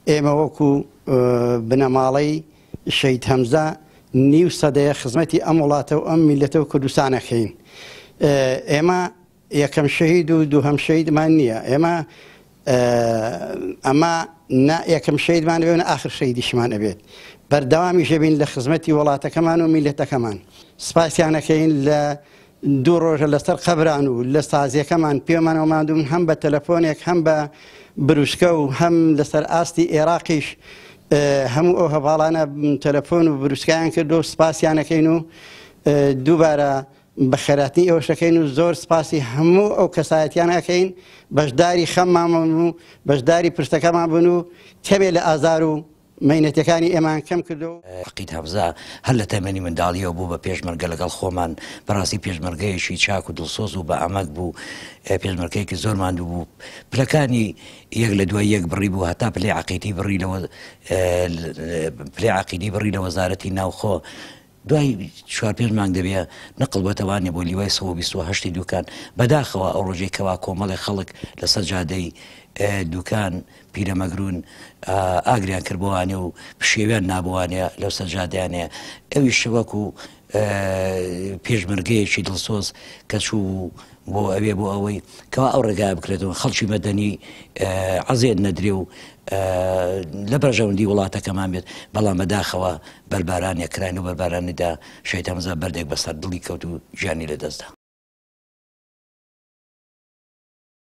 ئێمە وەکو بنەماڵەی شەهید هەمزە نیو سەدەیە خزمەتی ئەم وڵاتە و ئەم میللەتە و کوردستان ئەکەین. ئێمە یەکەم شەهید و دووهەم شەهیدمان نییە. ئێمە ئەمە نە یەکەم شەهیدمان ئەبێت و نە ئاخر شەهیدیشمان ئەبێت. بەردەوامیش ئەبین لە خزمەتی وڵاتەکەمان و میللەتەکەمان. سپاسیان ئەکەین لە دوو ڕۆژە لەسەر قەبران و لە سازیەکەمان پێمانەوە ماندوون هەم بە تەلەفۆنێک هەم بە بروسکە و هەم لەسەر ئاستی ئێراقیش هەموو ئەو هەڤاڵانە تەلەفۆن و بروسکایان کردو و سپاسیانەکەین و دووبارە بەخێراتنی ئێوەش دەکەین و زۆر سپاسی هەموو ئەو کەسایەتیان ئەکەین بەشداری خەممان بوون و بەشداری پرسەکەمان بوون و کەمێ لە ئازار و مەینەتیەکانی ئێمەیان کەم کردەوە. عەقید هەمزە هەر لە تەمەنی منداڵیەوە بوو بە پێشمەرگە لەگەڵ خۆمان، بەڕاستی پێشمەرگەیەکی چاک و دڵسۆز و بە ئەمەک بوو، پێشمەرگەیەکی زۆر ماندوو بوو، پلەکانی یەک لە دوای یەک بڕی بوو هەتا پلەی عەقیدی بڕی لە پلەی عەقیدی بڕی لە وەزارەتی ناوخۆ، دوای چوار پێنج مانگ دەبێ نەقڵ بۆتە وانێ بۆ لیوای 128 ی دوکان، بەداخەوە ئەو ڕۆژەی کەوا کۆمەڵێ خەڵک لەسەر جادەی دوکان پیرەمەگرون ئاگریان کرد بۆ وانێ و پشێویان نابۆ وانێ لەو سەر جادەیانێ ئەویش وەکو پێشمەرگەیەکی دڵسۆز کە چوو بۆ ئەوێ بۆ ئەوەی کەوا ئەو ڕێگایە بکرێتەوە خەڵکی مەدەنی عەزێت نەدرێ و لە بەرژەوەندی وڵاتەکەمان بێت بەڵام بەداخەوە بەربارانێک کراین و بەربارانیدا شەهید هەمزە بەردێک بەسەر دڵی کەوت و گیانی لەدەستدا.